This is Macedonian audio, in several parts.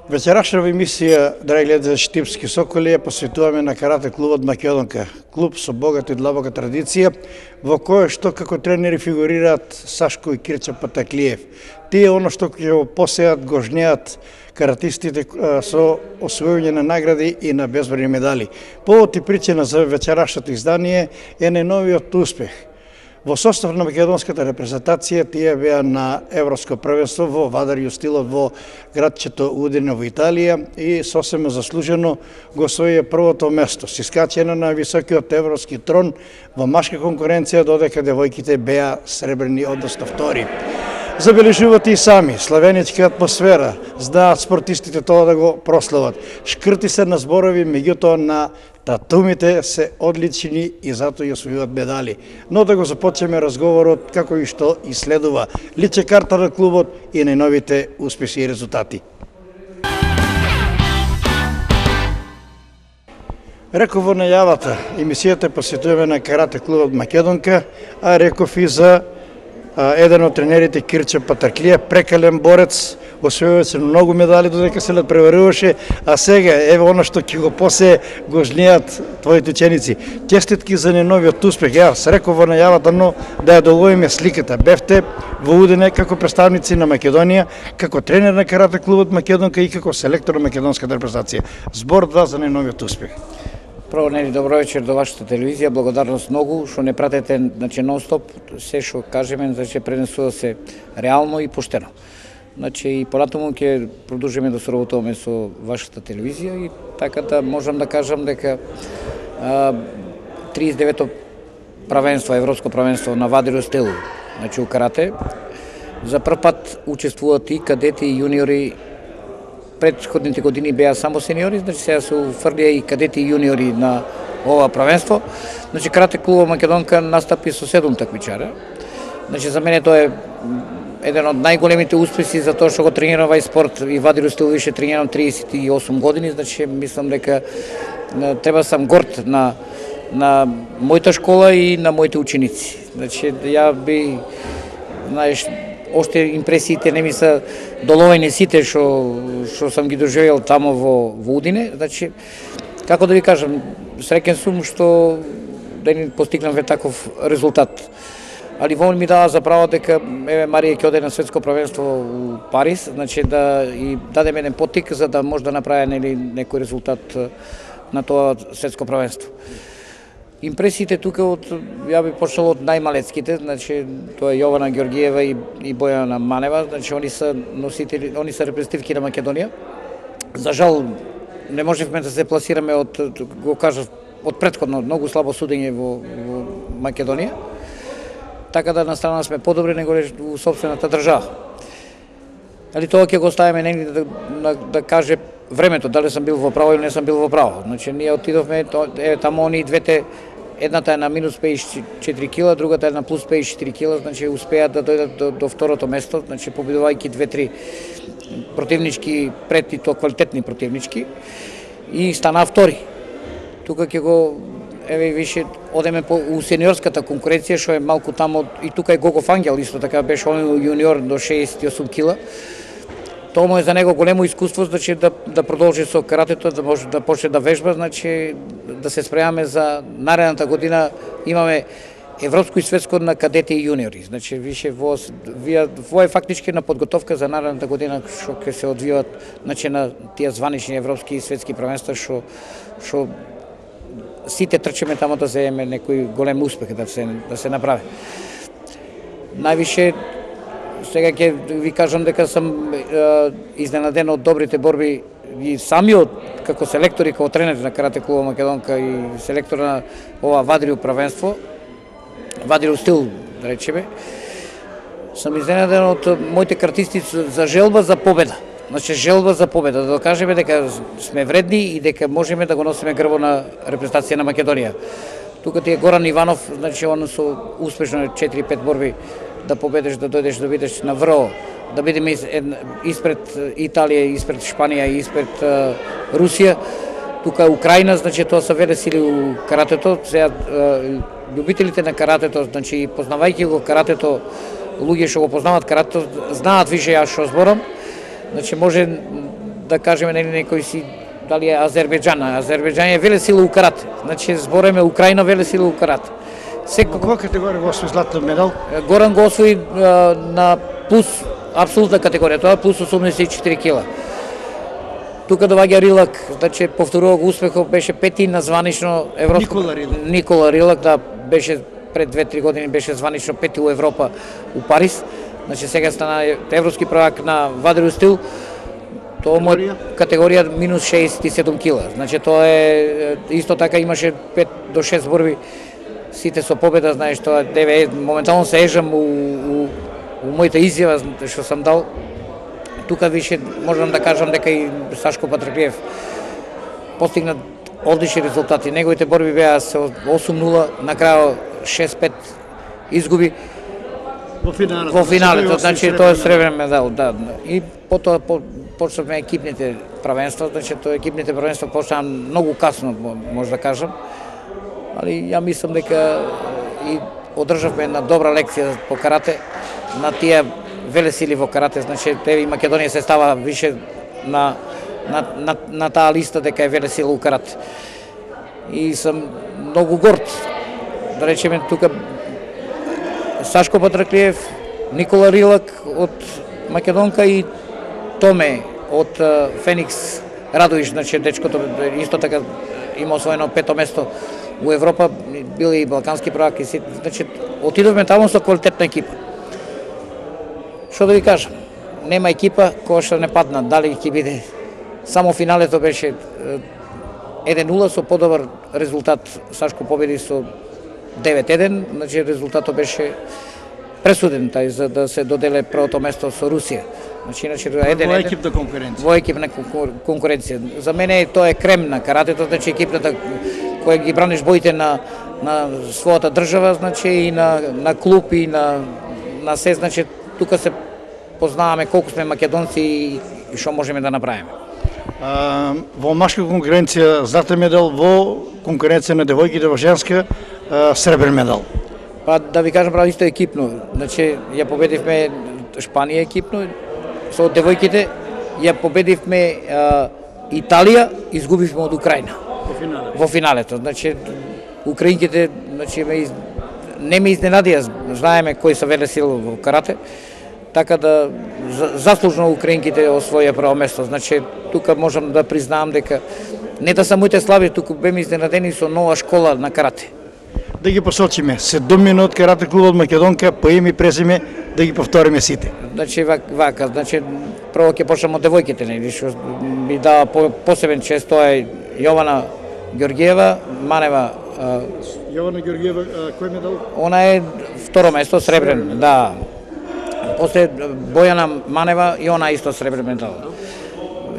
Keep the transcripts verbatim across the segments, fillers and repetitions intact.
Вечерашната емисија, драги гледачи Типски соколи, ја посветуваме на карате клубот Македонка. Клуб со богата и длабока традиција, во кој што како тренери фигурираат Сашко и Кирча Патаклиев. Тие оно што ќе го посеат, го жнеат каратистите со освојување на награди и на безбројни медали. Повод и причина за вечерашното издание е најновиот успех. Во состав на македонската репрезентација тие беа на Европско првенство во вадарију стилот во градчето Удине во Италија и сосема заслужено го освоија првото место, с искачена на високиот европски трон во машка конкуренција, додека девојките беа сребрени, односно втори. Забележувате и сами, славеничка атмосфера, знаат спортистите тоа да го прослават. Шкрти се на зборови, меѓутоа на татумите се одлични и затоа и освојуваат медали. Но да го започнеме разговорот како и што и следува. Личе карта на клубот и најновите успеси и резултати. Реков во најавата, емисијата посветуваме на карате клубот Македонка, а реков и за еден од тренерите Кирча Патаклиев, прекален борец, освојуваше многу медали додека се надпреваруваше, а сега еве она што ќе го посе го жнеат твоите ученици. Честитки за најновиот успех. Јас реков во најавата, но да ја доловиме сликата. Бевте во Удине како представници на Македонија, како тренер на карате клубот Македонка и како селектор на македонската репрезентација. Збор два за најновиот успех. Прво, нели, добро вечер до вашата телевизија, благодарност многу што не пратете, значи, нон-стоп, се што кажеме, значи, пренесува се реално и поштено. Значи, и понатаму ќе продолжиме да соработуваме со вашата телевизија и така да можам да кажам дека триесет и девето правенство, европско правенство на вадарију стил, значи у карате, за прв пат учествуваат и кадети и јуниори. Предходните години беа само сениори, значи сега се уфрлија и кадети и јуниори на ова правенство. Значи карате клубот Македонка настапи со седум такмичара. Значи за мене тоа е еден од најголемите успеси за тоа што го тренирам овај спорт и вадарију стил више тренирам триесет и осум години, значи мислам дека треба сам горд на на мојата школа и на моите ученици. Значи ја би, знаеш, оште импресиите не ми се доловени сите што што сам ги доживеал тамо во во Удине, значи како да ви кажам, среќен сум што да ни постигнавме таков резултат. Али во ми дава за право дека еве Марија ќе оде на светско првенство у Париз, значи да и дадеме еден поттик за да може да направи, нели, некој резултат на тоа светско првенство. Импресиите тука од, ја би почнал од најмалецките, значи тоа е Јована Ѓоргиева и, и Бојана Манева, значи они се носители, они се репрезентативки на Македонија. За жал не можевме да се пласираме од, го кажав, од претходно многу слабо судење во, во Македонија. Така да на страна сме подобри него во сопствената држава. Али тоа ќе го оставиме негде да, да, да каже времето, дали сам бил во право или не сам бил во право. Значи ние отидовме, е тамо они двете, едната е на минус педесет и четири кила, другата е на плюс педесет и четири кила, значи успеат да дојдат до, до второто место, значи победувајќи две-три противнички пред и тоа квалитетни противнички и стана втори. Тука ќе го еве више одеме по у сениорската конкуренција што е малку тамо и тука е Гогов Ангел исто така беше он јуниор до шеесет и осум кила. Тоа му е за него големо искуство, значи да да продолжи со каратето, да може да почне да вежба, значи да се спремаме за наредната година. Имаме европско и светско на кадети и јуниори. Значи више во во е фактички на подготовка за наредната година што ќе се одвиваат, значи на тие званични европски и светски првенства што што сите трчиме тамо да земеме некој голем успех да се да се направи. Највише сега ќе ви кажам дека сам е, изненаден од добрите борби и самиот како селектор и како тренер на карате клубот Македонка и селектор на ова вадарију правенство, вадарију стил, да речеме, сам изненаден од моите каратисти за желба за победа. Значи желба за победа, да докажеме дека сме вредни и дека можеме да го носиме грбо на репрезентација на Македонија. Тука ти е Горан Иванов, значи он со успешно четири-пет борби да победиш, да дојдеш да видиш на ВРО, да бидеме испред Италија, испред Шпанија, испред Русија. Тука Украина, значи тоа се веле сили у каратето. Сега љубителите на каратето, значи познавајќи го каратето, луѓе што го познаваат каратето, знаат више ја што зборам. Значи може да кажеме нели некој си дали е Азербејџан, Азербејџан е веле сила у карате. Значи збореме Украина веле сила у карате. Секој која категорија го освои златен медал? Горан го освои на плюс апсолутна категорија, тоа е плюс осумдесет и четири кила. Тука доаѓа Рилак, значи повторува го успехот, беше пети на званично европско. Никола Рилак. Никола Рилак, да, беше пред две-три години беше званично пети у Европа у Париз. Значи сега стана европски prvак на вадрио стил. Тоа му е категорија минус шеесет и седум кила. Значи тоа е исто така имаше пет до шест борби. Сите со победа, знаеш, тоа деве моментално се ежам у, у, у мојата изјава што сам дал. Тука више можам да кажам дека и Сашко Патраклиев постигна одлични резултати. Неговите борби беа со осум нула, на крајот шест пет изгуби. Во финалето. Во финалето, значи тоа е сребрен медал, да. И потоа по, почнавме екипните правенства, значи тоа екипните правенства почнаа многу касно, може да кажам. Али ја мислам дека и одржавме една добра лекција по карате на тие веле сили во карате, значи еве и Македонија се става више на на на, на таа листа дека е веле сила у карате. И сум многу горд. Да речеме тука Сашко Патраклиев, Никола Рилак од Македонка и Томе од Феникс Радовиш, значи дечкото исто така има освоено пето место у Европа, бил и балкански prvак и си, значи отидовме таму со квалитетна екипа. Што да ви кажам, нема екипа која што не падна, дали ќе биде само финалето беше еден нула со подобар резултат. Сашко победи со девет еден, значи резултатот беше пресуден тај за да се доделе првото место со Русија. Значи иначе еден еден. Во екипна конкуренција. Во екипна конкуренција. За мене тоа е крем на каратето, значи екипната која ги браниш боите на на својата држава, значи и на на клуб и на на се, значи тука се познаваме колку сме македонци и што можеме да направиме. А, во машка конкуренција златен медал, во конкуренција на девојките во женска а, сребрен медал. Па да ви кажам право исто екипно, значи ја победивме Шпанија екипно со девојките, ја победивме а, Италија, изгубивме од Украина. Во финалето. Во финалето, значи украинките, значи ме из... не ме изненадија, знаеме кои се веле сила во карате, така да заслужно украинките освоја прво место. Значи тука можам да признаам дека не да самите слаби, туку беме изненадени со нова школа на карате. Да ги посочиме, седум од карате клубот Македонка, по име и презиме, да ги повториме сите. Значи вака, значи прво ќе почнеме од девојките, нели, што ми дава по, посебен чест, тоа е Јована Ѓоргиева, Манева. А, Јована Ѓоргиева, кој медал? Она е второ место, сребрен, да. После Бојана Манева и она исто сребрен медал.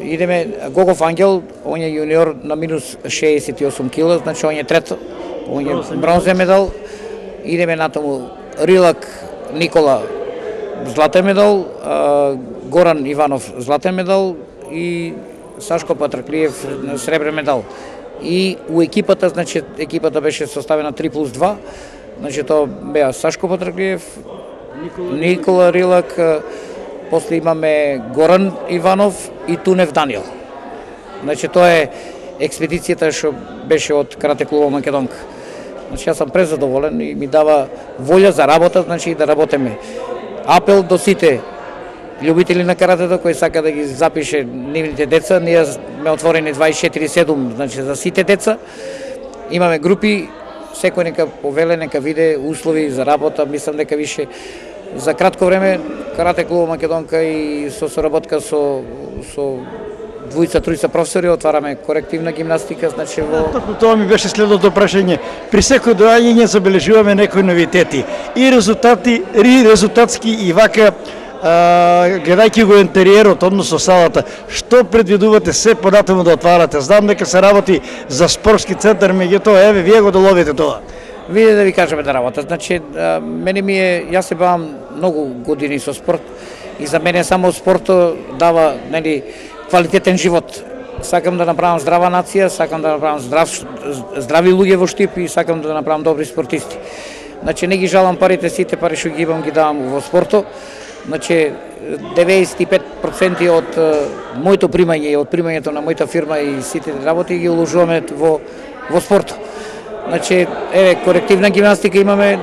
Идеме Гогов Ангел, он е јуниор на минус шеесет и осум кила, значи он е трето, он е бронзен медал. Идеме натаму Рилак Никола златен медал, Горан Иванов златен медал и Сашко Патраклиев сребрен медал. И у екипата, значи екипата беше составена три плюс два, значи тоа беа Сашко Патраклиев, Никола, Никола Рилак, после имаме Горан Иванов и Тунев Даниел. Значи тоа е експедицијата што беше од карате клубот Македонка. Значи јас сум презадоволен и ми дава волја за работа, значи да работиме. Апел до сите љубители на каратето кои сака да ги запише нивните деца, ние сме отворени дваесет и четири седум, значи за сите деца. Имаме групи, секој нека повеле, нека виде услови за работа, мислам дека више за кратко време карате клуб Македонка и со соработка со со двојца, тројца професори отвараме корективна гимнастика, значи во Токму тоа ми беше следното прашање. При секој доаѓање забележуваме некои новитети и резултати, и резултатски и вака а, гледајќи го интериерот, односно салата, што предвидувате се понатаму да отварате? Знам дека се работи за спортски центар, меѓутоа еве вие го доловите тоа. Виде да ви кажеме да работа. Значи, а, мене ми е, јас се бавам многу години со спорт и за мене само спортот дава, нели, квалитетен живот. Сакам да направам здрава нација, сакам да направам здрав, здрави луѓе во Штип и сакам да направам добри спортисти. Значи не ги жалам парите, сите пари што ги имам ги давам во спортот. Значи деветдесет и пет проценти од моето примање и од примањето на мојата фирма и сите работи ги уложуваме во во спорт. Значи еве корективна гимнастика имаме,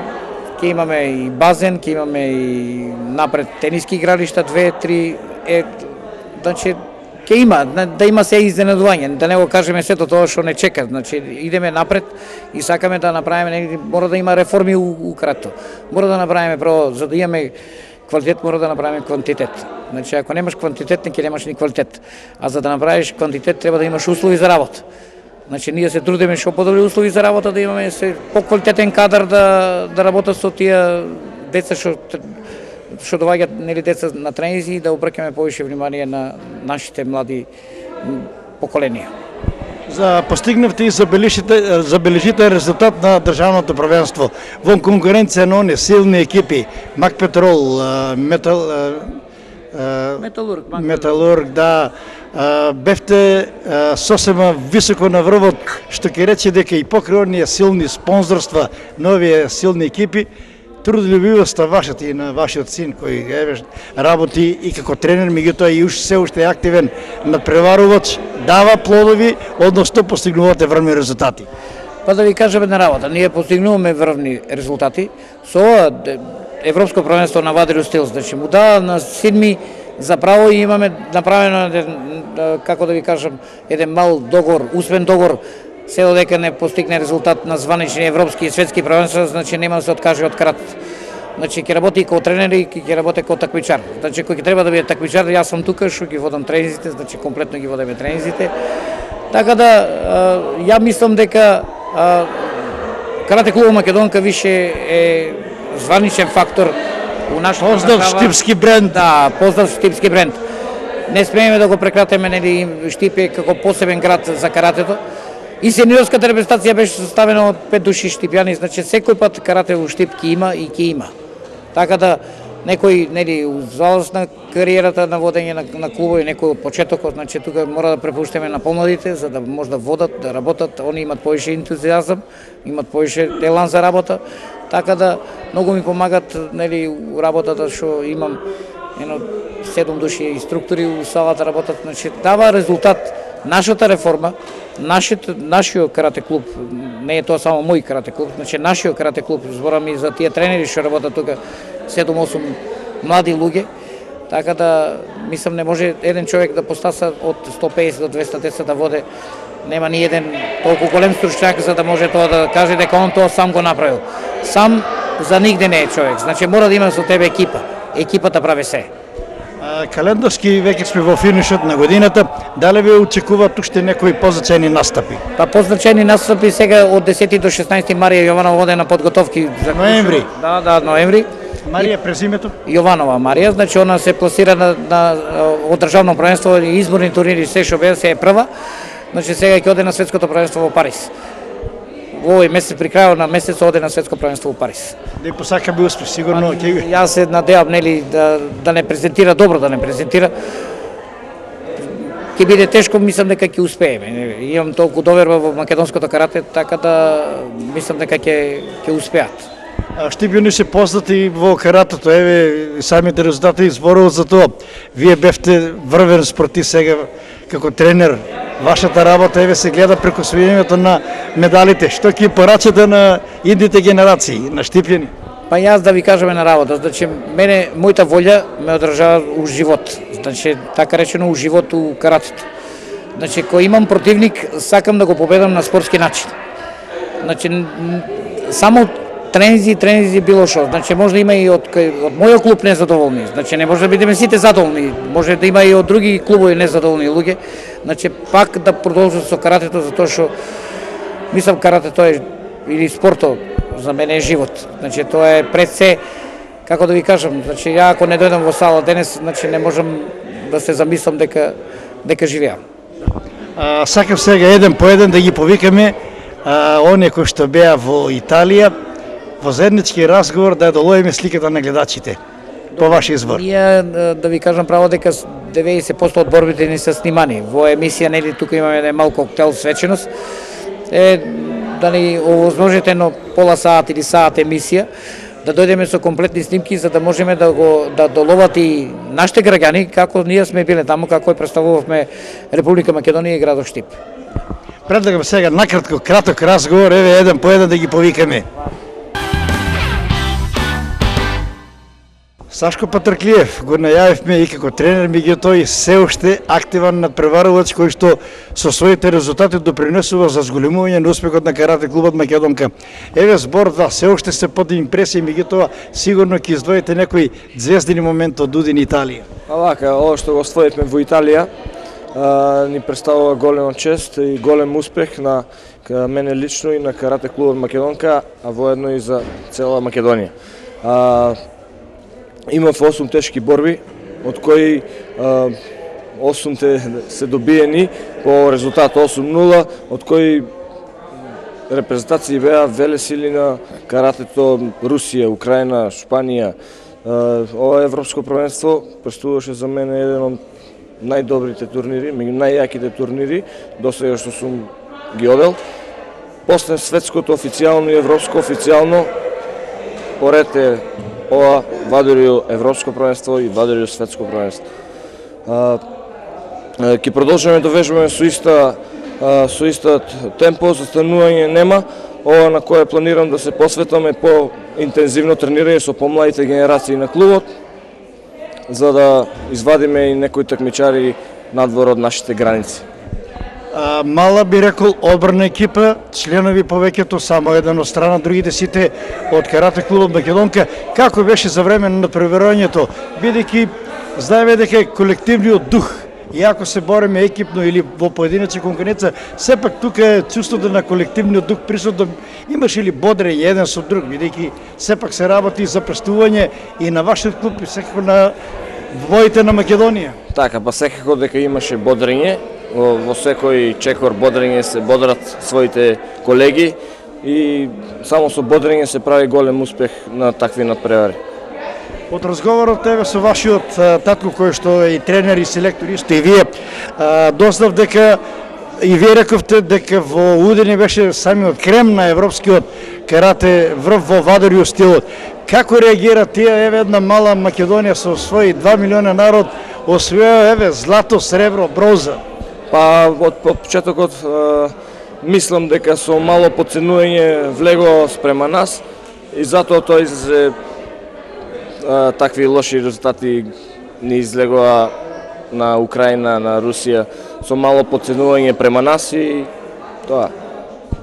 ќе имаме и базен, ќе имаме и напред тениски игралишта, две, три, е, значи ќе има, да има се изненадување, да не го кажеме сето тоа што не чека, значи идеме напред и сакаме да направиме, мора да има реформи у, у карато. Мора да направиме прво, за да имаме квалитет, мора да направиме квантитет. Значи ако немаш квантитет, не ќе немаш ни квалитет. А за да направиш квантитет треба да имаш услови за работа. Значи ние се трудиме што подобри услови за работа, да имаме се поквалитетен кадар да да работат со тие деца што што доаѓаат, нели, деца на тренинзи и да обрќаме повише внимание на нашите млади поколенија. За постигнавте и забележите забележите резултат на државното првенство во конкуренција на оние силни екипи Мак Петрол, Метал Металург, Металург, да, бевте сосема високо на врвот, што ќе рече дека и покрај оние силни спонзорства на овие силни екипи, трудолюбивоста вашата и на вашиот син кој еве работи и како тренер, меѓутоа и уште се уште активен надпреварувач, дава плодови, односно постигнувате врвни резултати. Па да ви кажам една работа, ние постигнуваме врвни резултати со ова Европско првенство на Вадрио стил, значи му дава на седми заправо и имаме направено, како да ви кажам, еден мал договор, усвен договор, се додека не постигне резултат на званични европски и светски првенства, значи нема да се откаже од карат. Значи ќе работи и како тренер и ќе работи како такмичар. Значи кој ќе треба да биде такмичар, јас сум тука што ги водам тренинзите, значи комплетно ги водиме тренинзите. Така да ја мислам дека Карате клуб Македонка више е званичен фактор у нашата Поздрав Штипски бренд. Да, поздрав Штипски бренд. Не смееме да го прекратиме, нели, Штип е како посебен град за каратето. И сениорската репрезентација беше составена од пет души штипјани, значи секој пат карате во Штип ќе има и ќе има. Така да некој, нели, залост на кариерата на водење на, на клубови, некој од почетокот, значи тука мора да препуштиме на помладите за да може да водат, да работат, они имат повише ентузијазам, имат повише елан за работа. Така да многу ми помагат, нели, у работата што имам едно седум души инструктори у салата работат, значи дава резултат нашата реформа, нашиот нашиот карате клуб, не е тоа само мој карате клуб, значи нашиот карате клуб, зборам и за тие тренери што работат тука, седум-осум млади луѓе, така да мислам не може еден човек да постаса од сто песет до двеста деца да воде, нема ни еден толку голем стручњак за да може тоа да каже дека он тоа сам го направил. Сам за нигде не е човек, значи мора да има со тебе екипа. Екипата прави се. Календарски веќе сме во финишот на годината, дали ве очекуваат уште некои позначени настапи? Па позначени настапи сега од десети до шеснаесети Марија Јованова воде на подготовки за ноември. Да, да, ноември. Марија презимето? Јованова Марија, значи она се пласира на, на од државно првенство и изборни турнири се што бе се е прва. Значи сега ќе оде на светското првенство во Париз. Во овој месец, при крајот на месец, оде на светско првенство во Париз. Да и посака би успех, сигурно ќе. Јас се надевам, нели, да да не презентира добро, да не презентира. Ќе биде тешко, мислам дека ќе успееме. Имам толку доверба во македонското карате, така да мислам дека ќе ќе успеат. Штипјани се познати во каратето, еве самите резултати зборуват за тоа. Вие бевте врвен спортист сега како тренер. Вашата работа еве се гледа преку освојувањето на медалите. Што ќе порачате на идните генерации, на Штипјани? Па јас да ви кажам една работа, значи мене мојата волја ме одржава у живот. Значи така речено у живот у каратето. Значи кога имам противник, сакам да го победам на спортски начин. Значи само тренинзи, тренинзи било што. Значи може да има и од од мојот клуб незадоволни. Значи не може да бидеме сите задоволни. Може да има и од други клубови незадоволни луѓе. Значи пак да продолжам со каратето затоа што мислам каратето е или спортот за мене е живот. Значи тоа е пред се, како да ви кажам, значи ја ако не дојдам во сала денес, значи не можам да се замислам дека дека живеам. А, сакам сега еден по еден да ги повикаме а, оние кои што беа во Италија, во заеднички разговор да долоиме сликата на гледачите. По ваш избор. Ние да ви кажам право дека деветдесет проценти од борбите ни се снимани. Во емисија, нели, тука имаме еден мал коктел свеченост. Е, да ни овозможите на пола саат или саат емисија, да дојдеме со комплетни снимки за да можеме да го да доловат и нашите граѓани како ние сме биле таму, како ја представувавме Република Македонија и градот Штип. Предлагам сега накратко краток разговор, еве еден по еден да ги повикаме. Сашко Патрклиев го најавивме и како тренер, меѓутоа и се уште активен надпреварувач кој што со своите резултати допринесува за зголемување на успехот на карате клубот Македонка. Еве збор да се уште се под импресија, меѓутоа сигурно ќе издвоите некој звездени момент од Удин Италија. А вака, ова што го освоивме во Италија а, ни представува голема чест и голем успех на мене лично и на карате клубот Македонка, а воедно и за цела Македонија. А, Имав осум тешки борби, од кои осумте се добиени по резултат осум нула, од кои репрезентации беа веле сили на каратето Русија, Украина, Шпанија. Ова европско првенство представуваше за мене еден од најдобрите турнири, меѓу најјаките турнири до сега што сум ги одел. После светското официјално и европско официјално, поред е ова вадурио европско првенство и вадурио светско првенство. Ќе продолжиме да вежбаме со иста со иста темпо, застанување нема. Ова на кое планирам да се посветам е по интензивно тренирање со помладите генерации на клубот, за да извадиме и некои такмичари надвор од нашите граници. А, мала би рекол одбрана екипа, членови повеќето, само еден од страна, другите сите од карате клубот Македонка. Како беше за време на надпреварувањето, бидејќи знаеме дека колективниот дух, иако се бориме екипно или во поединечна конкуренција, сепак тука е чувството на колективниот дух присутно. Имаше ли бодрење еден со друг, бидејќи сепак се работи за престување и на вашиот клуб и секако на воите на Македонија? Така, па секако дека имаше бодрење. Во секој чекор бодрење се бодрат своите колеги и само со бодрење се прави голем успех на такви надпревари. Од разговорот тебе со вашиот татко кој што е и тренер и селектор исто и вие, дознав дека и вие рековте дека во Удин беше самиот крем на европскиот карате врв во вадурио стилот. Како реагира тие, еве една мала Македонија со своји два милиона народ освоја еве злато, сребро, бронза? Па од почетокот мислам дека со мало подценување влего спрема нас и затоа тоа излезе такви лоши резултати ни излегоа на Украина, на Русија, со мало подценување према нас и тоа.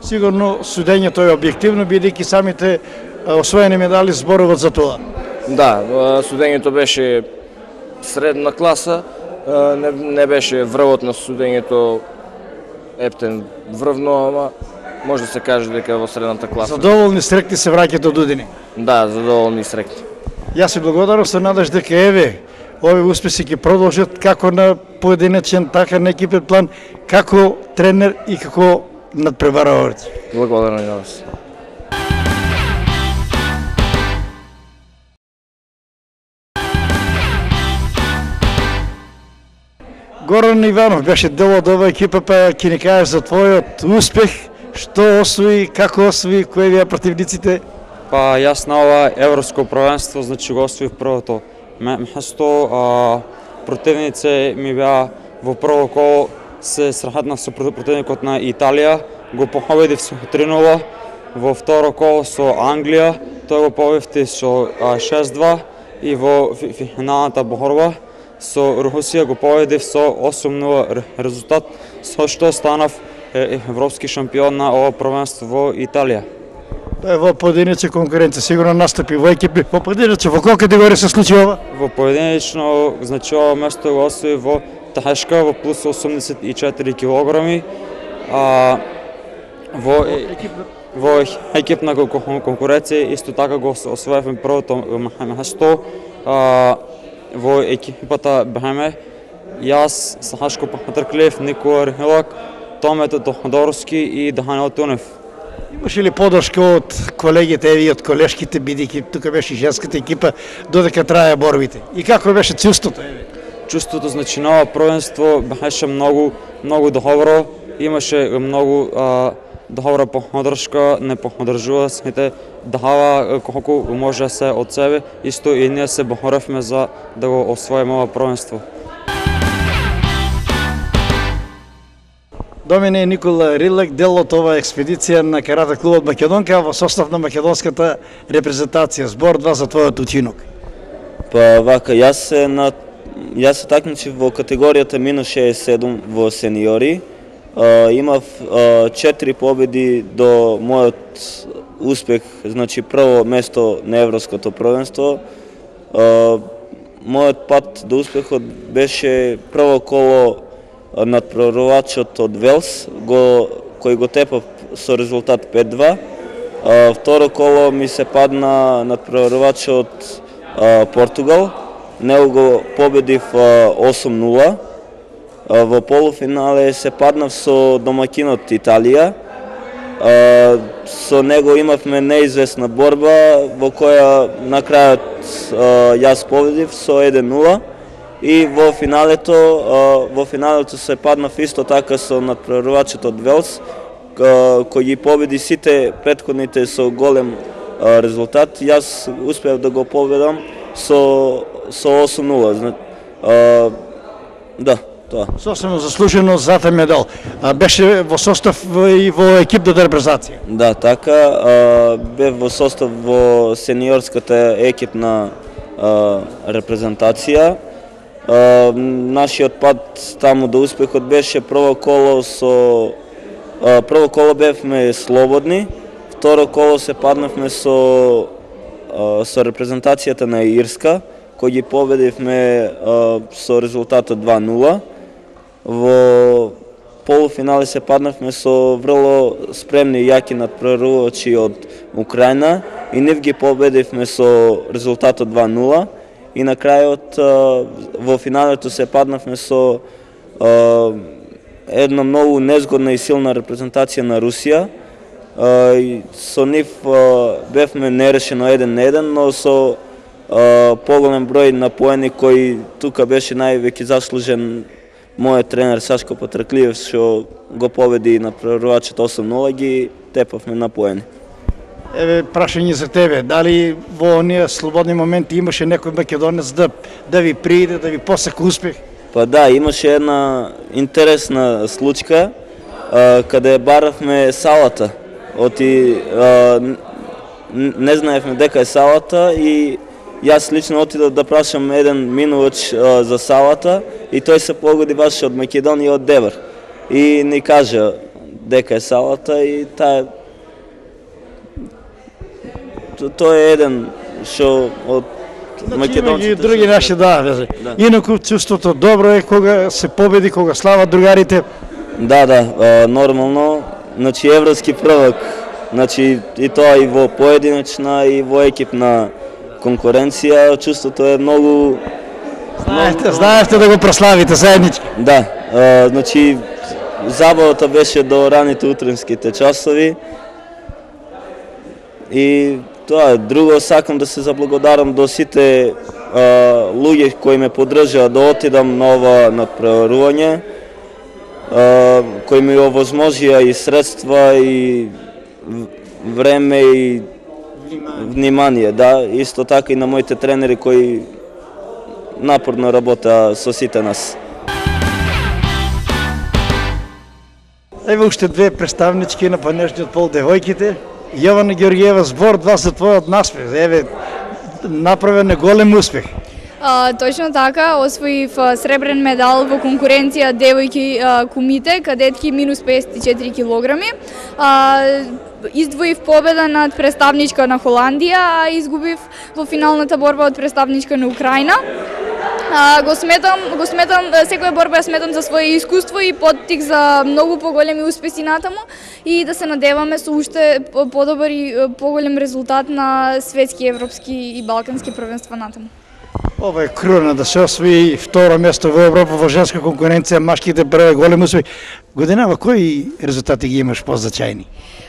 Сигурно судењето е објективно, бидејќи самите освоени медали зборуват за тоа. Да, судењето беше средна класа, не, не беше врвот на судењето ептен врвно, ама може да се каже дека во средната класа. Задоволни, срекни се враќате од Удини? Да, задоволни и срекни. Јас се благодарам, се надаш дека еве овие успеси ќе продолжат како на поединечен, така на екипен план, како тренер и како надпреваравач. Благодарам и на вас. Горан Иванов беше дел од оваа екипа, па ќе ни кажеш за твојот успех, што освои, како освои, кои беа противниците? Па јас на ова европско првенство, значи го освоив првото место. Противници ми беа во прво коло се срахатнав со противникот на Италија, го победив со три нула, во второ коло со Англија, тој го победив со шест два и во финалната борба со Русија го победив со осум нула резултат, со што станав европски шампион на ова првенство во Италија. Тоа е во поединечна конкуренција, сигурно настапи во екипи. Во поединечна, во колку категорија се случи ова? Во поединечно, значи ова место го освои во тешка, во плюс осумдесет и четири килограми. А, во, во екипна конкуренција исто така го освоивме првото место. А, во екипата беме јас, Сашко Патрклиев, Никола Рихилак, Томето Тоходорски и Даниел Тунев. Имаше ли подршка од колегите и од колешките, бидејќи тука беше женската екипа, додека трае борбите? И како беше чувството? Чувството, значи, на ова првенство беше многу, многу добро. Имаше многу а, добра поддршка, не поддржува сите, дава колку може се од себе, исто и ние се боривме за да го освоиме ова првенство. Домине Никола Рилек, дел од оваа експедиција на карате клубот Македонка во состав на македонската репрезентација. Збор два за твојот учинок. Па вака, јас се на јас се такмичив во категоријата минус шеесет и седум во сениори. Uh, имав uh, четири победи до мојот успех, значи прво место на Европското првенство. Uh, мојот пат до успехот беше прво коло надпреварувачот од Велс, го, кој го тепав со резултат пет два. Uh, второ коло ми се падна надпреварувачот uh, Португал, него го победив uh, осум нула. Во полуфинале се паднав со домакинот Италија. Со него имавме неизвестна борба во која на крајот јас победив со еден нула и во финалето во финалето се паднав исто така со надпреварувачот од Велс, кој ги победи сите претходните со голем резултат. Јас успеав да го победам со со осум нула. Да. Тоа. Сосема заслужено златен медал. А, беше во состав и во екипната репрезентација. Да, така. Бев во состав во сениорската екипна а, репрезентација. А, нашиот пат таму до успехот беше прво коло со а, прво коло бевме слободни, второ коло се паднавме со а, со репрезентацијата на Ирска, кој ги победивме а, со резултатот два нула. Во полуфинале се паднавме со врло спремни и јаки надпреварувачи од Украина и нив ги победивме со резултатот два нула и на крајот во финалето се паднавме со една многу незгодна и силна репрезентација на Русија. Со нив бевме нерешено еден на еден, но со поголем број на поени кои тука беше највеќе заслужен мојот тренер Сашко Патраклиев, што го победи надпреварувачот осум нула, ги тепавме на поени. Еве прашање за тебе, дали во оние слободни моменти имаше некој македонец да да ви прииде, да ви посака успех? Па да, имаше една интересна случка а, каде баравме салата. Оти а, не знаевме дека е салата и јас лично отидов да прашам еден минувач а, за салата и тој се погоди баш од Македонија, од Девар. И ни кажа дека е салата и таа тој е еден што од македонците. И други наши да, везе. Да. Инаку чувството добро е кога се победи, кога слават другарите. Да, да, а, нормално. Значи европски првак. Значи и тоа и во поединечна и во екипна конкуренција, чувството е многу Знаете, многу... знаете да го прославите заеднички. Да, а, значи забавата беше до раните утренските часови. И тоа е. Друго, сакам да се заблагодарам до сите а, луѓе кои ме поддржаа да отидам на ова надпреварување, а, кои ми овозможија и средства и време и внимание, да, исто така и на моите тренери кои напорно работа со сите нас. Еве уште две представнички на панежниот пол, девојките. Јована Георгиева, збор два за твојот наспех. Еве, направен е голем успех. А, точно така, освоив сребрен медал во конкуренција девојки а, кумите, кадетки минус песет и четири килограми. А, издвоив победа над представничка на Холандија, а изгубив во финалната борба од представничка на Украина. А, го сметам, го сметам, секоја борба ја сметам за свое искуство и поттик за многу поголеми успеси натаму и да се надеваме со уште подобар и поголем резултат на светски, европски и балкански првенства натаму. Ова е круна да се освои второ место во Европа во женска конкуренција, машките прве голем успех. Годинава, кои резултати ги имаш позначајни?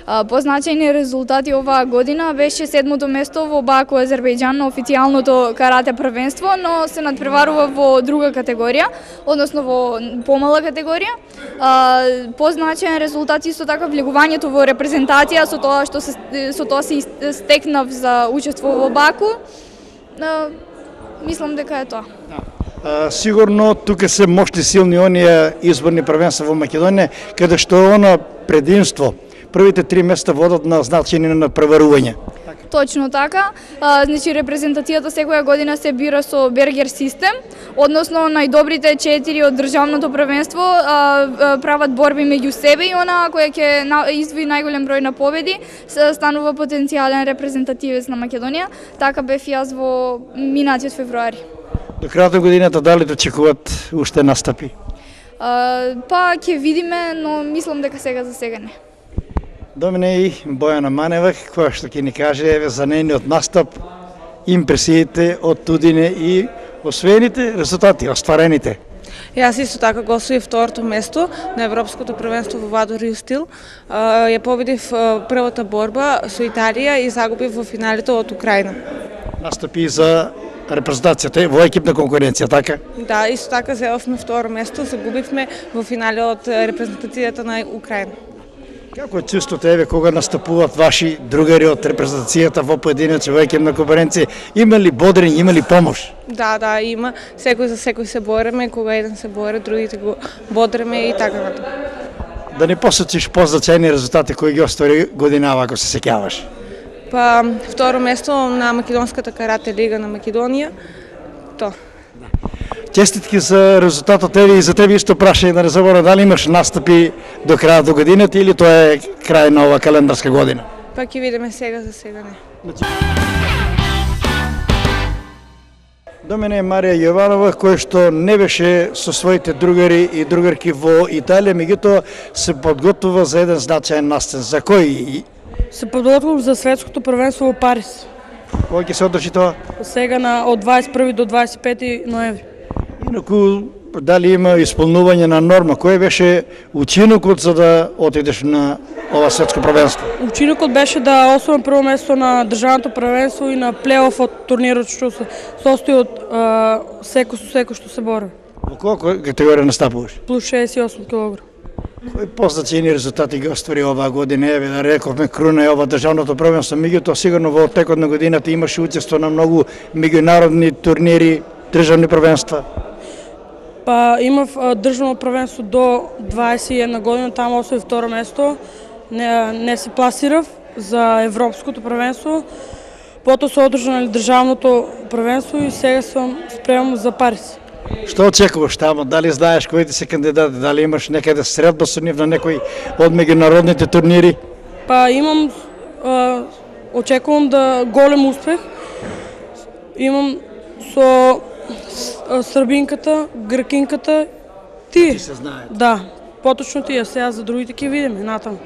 Позначајни резултати оваа година беше седмото место во Баку, Азербејџан на официјалното карате првенство, но се надпреварува во друга категорија, односно во помала категорија. Позначајен резултат исто така влегувањето во репрезентација со тоа што се со тоа се стекнав за учество во Баку. Мислам дека е тоа. А, сигурно тука се мощни силни оние изборни првенства во Македонија, каде што е она предимство. Првите три места водат на значење на преварување. Точно така. А, значи репрезентацијата секоја година се бира со Бергер систем, односно најдобрите четири од државното првенство а, а, прават борби меѓу себе и она која ќе издвои најголем број на победи станува потенцијален репрезентативец на Македонија. Така бев јас во минатиот февруари. До крајот на годината дали да очекуваат уште настапи? А, па ќе видиме, но мислам дека сега за сега не. До мене и Бојана Манева, која што ќе ни каже еве за нејниот настап, импресиите од тудине и освоените резултати, остварените. Јас исто така го освоив второто место на Европското првенство во Вадо Рио Стил. Ја победив првата борба со Италија и загубив во финалите од Украина. Настапи за репрезентацијата во екипна конкуренција, така? Да, исто така земавме второ место, загубивме во финале од репрезентацијата на Украина. Како е чувството еве кога настапуваат ваши другари од репрезентацијата во поединечни во екипна конкуренција? Има ли бодрење, има ли помош? Да, да, има. Секој за секој се бореме, кога еден се боре, другите го бодреме и така натаму. Да не посочиш позначајни резултати кои ги оствари годинава, ако се сеќаваш? Па, второ место на Македонската карате лига на Македонија. То. Честитки за резултатот еве и за тебе исто прашање да не заборам дали имаш настапи до крајот до годината или тоа е крај на ова календарска година? Па ќе видиме сега, за сега не. До мене е Марија Јованова, која што не беше со своите другари и другарки во Италија, меѓутоа се подготвува за еден значаен настан. За кој? Се подготвувам за светското првенство во Париз. Кој ќе се одржи тоа? Сега на од дваесет и први до дваесет и пети ноември. Инаку, дали има исполнување на норма? Кој беше учинокот за да отидеш на ова светско првенство? Учинокот беше да освојам прво место на државното првенство и на плейоф од турнирот што се состои од секој со секој што се бори. Во која категорија настапуваш? Плюс шеесет и осум килограми. Кои позначајни резултати ги оствари оваа година? Еве да рековме круна е ова државното првенство, меѓутоа сигурно во текот на годината имаше учество на многу меѓународни турнири, државни првенства. Па имав државно првенство до дваесет и една година, таму освоив второ место. Не, не се пласирав за европското првенство. Потоа се одржа на државното првенство и сега сум спремам за Париз. Што очекуваш таму? Дали знаеш кои ти се кандидати? Дали имаш некаде средба со нив на некој од меѓународните турнири? Па имам, а, очекувам да голем успех. Имам со србинката, гркинката, ти. Ти се знаеш. Да, поточно тие, сега за другите ќе видиме натаму.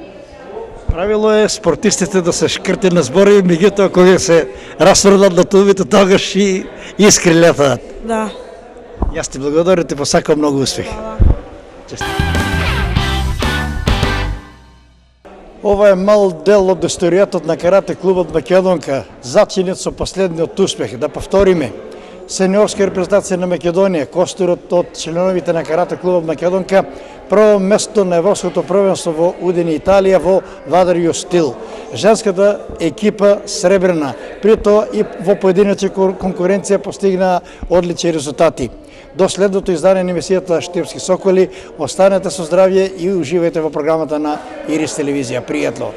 Правило е спортистите да се шкрти на зборови, меѓутоа кога се расфрлат на тубите, тогаш и искри летаат. Да. Јас ти благодарам, ти посакам многу успех. Честит. Ова е мал дел од историјата на карате клубот Македонка, зачинет со последниот успех. Да повториме, сениорска репрезентација на Македонија, костурот од членовите на карате клубот Македонка, прво место на Европското првенство во Удини, Италија, во Вадо Рио Стил. Женската екипа сребрена, при тоа и во поединечна конкуренција постигна одлични резултати. До следното издание на емисијата Штипски соколи, останете со здравје и уживајте во програмата на Ирис телевизија. Пријатно!